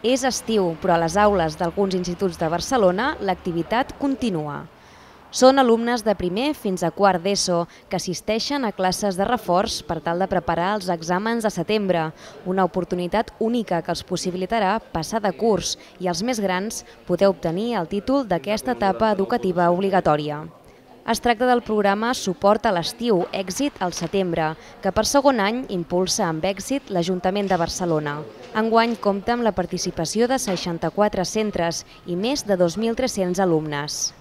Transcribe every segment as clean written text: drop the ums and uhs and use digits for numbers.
És estiu, però a les aules d'alguns instituts de Barcelona l'activitat continua. Són alumnes de primer fins a quart d'ESO que assisteixen a classes de reforç per tal de preparar els exàmens de setembre, una oportunitat única que els possibilitarà passar de curs i els més grans poder obtenir el títol d'aquesta etapa educativa obligatòria. Es tracta del programa Suport a l'estiu, èxit al setembre, que per segon any impulsa amb èxit l'Ajuntament de Barcelona. Enguany compta amb la participació de 64 centres i més de 2.300 alumnes.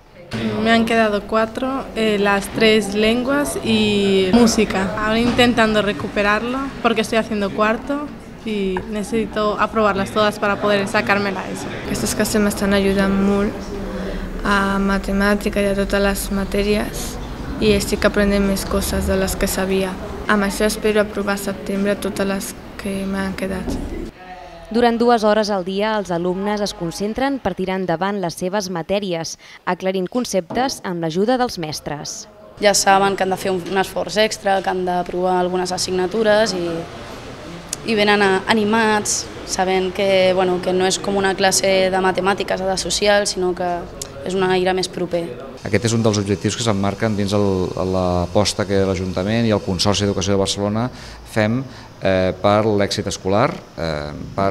Me han quedado 4, las 3 lenguas y música. Ahora intentando recuperarlo porque estoy haciendo cuarto y necesito aprobarlas todas para poder sacármela eso. Aquestes classes m'estan ajudant molt a matemàtica i a totes les matèries i estic aprenent més coses de les que sabia. Amb això espero aprovar a setembre totes les que m'han quedat. Durant 2 hores al dia, els alumnes es concentren per tirar endavant les seves matèries, aclarint conceptes amb l'ajuda dels mestres. Ja saben que han de fer un esforç extra, que han d'aprovar algunes assignatures i venen animats, sabent que no és com una classe de matemàtiques o de social, sinó que és un aire més proper. Aquest és un dels objectius que s'emmarquen dins l'aposta que l'Ajuntament i el Consorci d'Educació de Barcelona fem per l'èxit escolar, per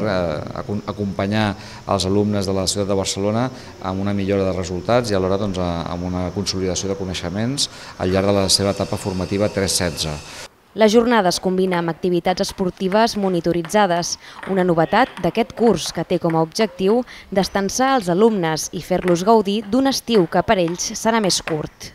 acompanyar els alumnes de la ciutat de Barcelona amb una millora de resultats i alhora amb una consolidació de coneixements al llarg de la seva etapa formativa 3-16. La jornada es combina amb activitats esportives monitoritzades, una novetat d'aquest curs que té com a objectiu destensar els alumnes i fer-los gaudir d'un estiu que per ells serà més curt.